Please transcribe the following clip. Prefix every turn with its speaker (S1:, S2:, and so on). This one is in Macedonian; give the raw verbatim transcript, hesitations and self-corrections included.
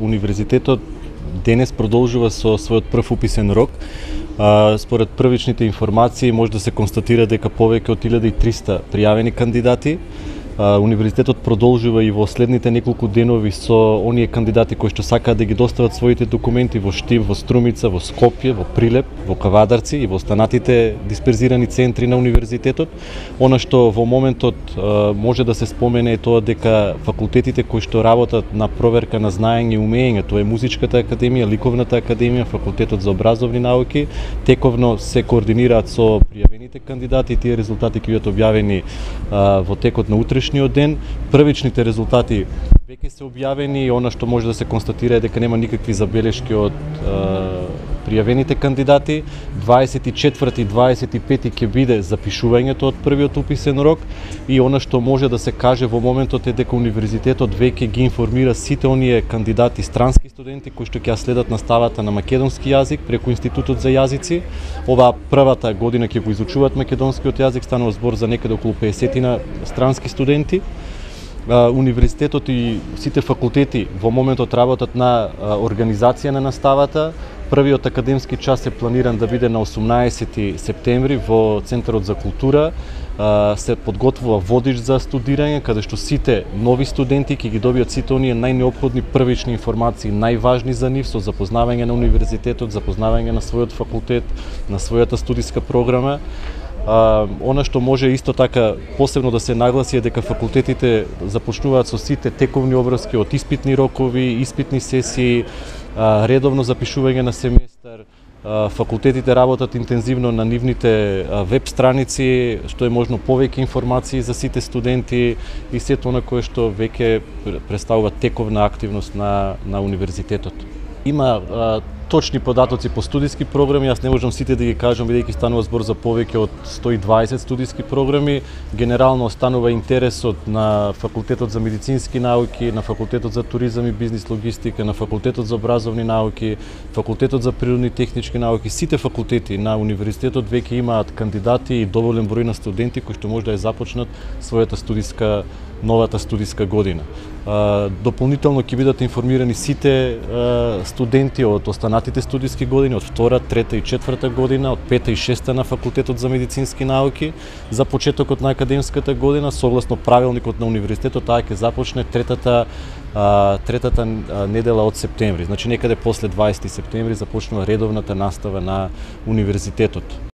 S1: универзитетот денес продолжува со својот прв уписен рок. А, според првичните информации може да се констатира дека повеќе од илјада и триста пријавени кандидати. А, универзитетот продолжува и во следните неколку денови со оние кандидати кои што сакаат да ги достават своите документи во Штип, во Струмица, во Скопје, во Прилеп, во Кавадарци и во останатите дисперзирани центри на универзитетот. Она што во моментот а, може да се спомене е тоа дека факултетите кои што работат на проверка на знаење и умење, тоа е Музичката академија, Ликовната академија, Факултетот за образовни науки, тековно се координираат со пријавените кандидати и тие резултати ќе бидат објавени а, во текот на утрешниот ден. Првичните резултати веќе се објавени и она што може да се констатира е дека нема никакви забелешки од а, пријавените кандидати. дваесет и четврти и дваесет и пети ќе биде запишувањето од првиот уписен рок и она што може да се каже во моментот е дека универзитетот веќе ги информира сите оние кандидати странски студенти кои што ќе следат наставата на македонски јазик преку Институтот за јазици. Ова првата година ќе го изучуваат македонскиот јазик, станува збор за некаде околу педесет странски студенти. Универзитетот и сите факултети во моментот работат на организација на наставата. Првиот академски час е планиран да биде на осумнаесети септември во Центарот за култура. Се подготвува водич за студирање, каде што сите нови студенти ќе ги добијат сите оние најнеопходни првични информации, најважни за нив, со запознавање на универзитетот, запознавање на својот факултет, на својата студиска програма. А, она што може исто така посебно да се нагласи е дека факултетите започнуваат со сите тековни обврски од испитни рокови, испитни сесии, а, редовно запишување на семестар. А, факултетите работат интензивно на нивните а, веб страници, што е можно повеќе информации за сите студенти и сето она кое што веќе представува тековна активност на, на универзитетот. Има а, точни податоци по студиски програми, јас не можам сите да ги кажам бидејќи станува збор за повеќе од сто и дваесет студиски програми. Генерално останува интересот на Факултетот за медицински науки, на Факултетот за туризам и бизнис логистика, на Факултетот за образовни науки, Факултетот за природни и технички науки. Сите факултети на универзитетот веќе имаат кандидати и доволен број на студенти кои што може да ја започнат својата студиска новата студиска година. Дополнително ќе бидат информирани сите студенти од останатите студиски години, од втора, трета и четврта година, од пета и шеста на Факултетот за медицински науки, за почетокот на академската година, согласно правилникот на универзитетот, таа ќе започне третата третата недела од септември. Значи некаде после дваесети септември започнува редовната настава на универзитетот.